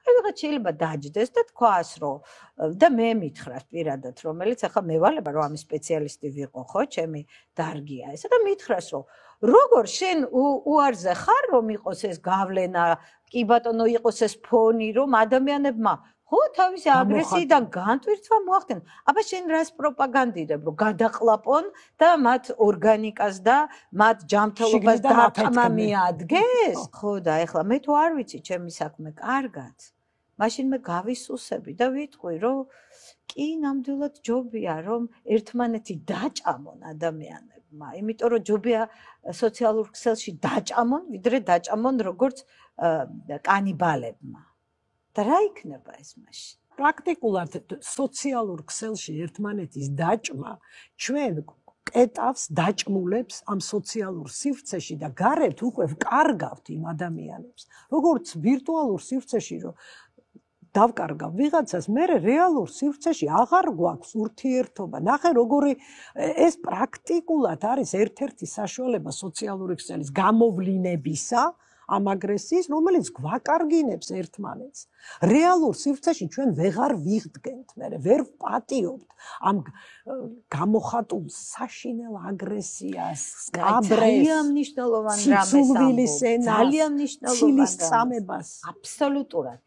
აი ვიღაც შეიძლება დაჯდეს და თქვას, რომ და მე მითხრას პირადად, რომელიც ახლა მე ვალება რომ ამის სპეციალისტი ვიყო, ხო, ჩემი დარგია ესა და მითხრას, რომ როგორ შენ უარზე ხარ, რომ იყოს ეს გავლენა, კი ბატონო, იყოს ეს ფონი, რომ ადამიანებმა ხო, თავისი აგრესიიდან განტვირთვა მოახდინონ. აბა შენ რას პროპაგანდირებ, რომ გადაყლაპონ და მათ ორგანიკას და მათ ჯანმრთელობას დარტყმა მიადგეს? ხო და ეხლა მე თუ არ ვიცი ჩემი საქმე კარგად, მაშინ მე გავისუსები და ვიტყვი, რომ კი ნამდვილად ჯობია, რომ ერთმანეთი დაჭამონ ადამიანებმა, იმიტომ რომ ჯობია სოციალურ ქსელში დაჭამონ, ვიდრე დაჭამონ როგორც კანიბალებმა. და რა იქნება ეს მაშინ? პრაქტიკულად სოციალურ ქსელში ერთმანეთის დაჭმა ჩვენ კეტავს დაჭმულებს ამ სოციალურ სივრცეში და გარეთ უკვე ვკარგავთ იმ ადამიანებს. როგორც ვირტუალურ სივრცეში რომ დავკარგავ ვიღაცას, მე რეალურ სივრცეში აღარ გვაქვს ურთიერთობა. ნახე როგორი ეს პრაქტიკულად არის ერთ-ერთი საშუალება სოციალური ქსელის გამოვლინებისა ამ აგრესიის, რომელიც გვაკარგინებს ერთმანეთს. რეალურ სივრცეში ჩვენ ვეღარ ვიღდგენთ, მე ვერ ვპატიობთ ამ გამოხატულ საშინელ აგრესიას, სკაბრეს, ძალიან მნიშვნელოვანი რამეს ამბობ. ძალიან მნიშვნელოვანი ცილის წამებას. აბსოლუტურად.